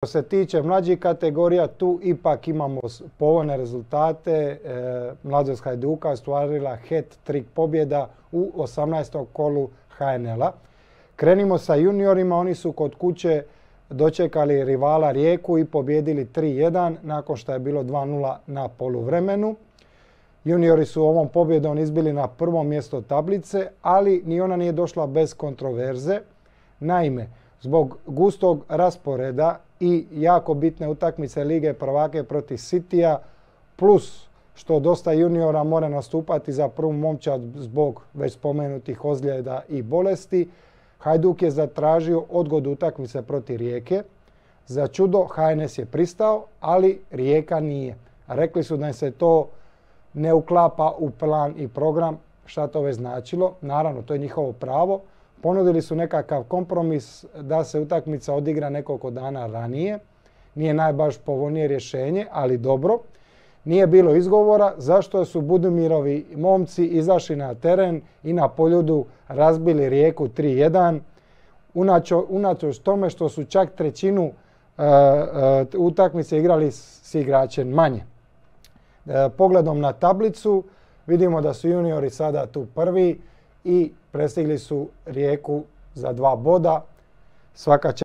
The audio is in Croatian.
Što se tiče mlađih kategorija, tu ipak imamo povoljne rezultate. Mladost Hajduka ostvarila hat-trick pobjeda u 18. kolu HNL-a. Krenimo sa juniorima, oni su kod kuće dočekali rivala Rijeku i pobjedili 3-1 nakon što je bilo 2-0 na poluvremenu. Juniori su ovom pobjedom izbili na prvo mjesto tablice, ali ni ona nije došla bez kontroverze. Naime, zbog gustog rasporeda i jako bitne utakmice Lige prvaka protiv Citya, plus što dosta juniora mora nastupati za prvu momčad zbog već spomenutih ozljeda i bolesti, Hajduk je zatražio odgodu utakmice protiv Rijeke. Za čudo HNS je pristao, ali Rijeka nije. Rekli su da im se to ne uklapa u plan i program. Šta to već značilo? Naravno, to je njihovo pravo. Ponudili su nekakav kompromis da se utakmica odigra nekoliko dana ranije. Nije najbaš povoljnije rješenje, ali dobro. Nije bilo izgovora zašto su Budumirovi momci izašli na teren i na Poljudu razbili Rijeku 3-1. Unatoč tome što su čak trećinu utakmice igrali s igračem manje. Pogledom na tablicu vidimo da su juniori sada tu prvi i prestigli su Rijeku za 2 boda. Svaka čast.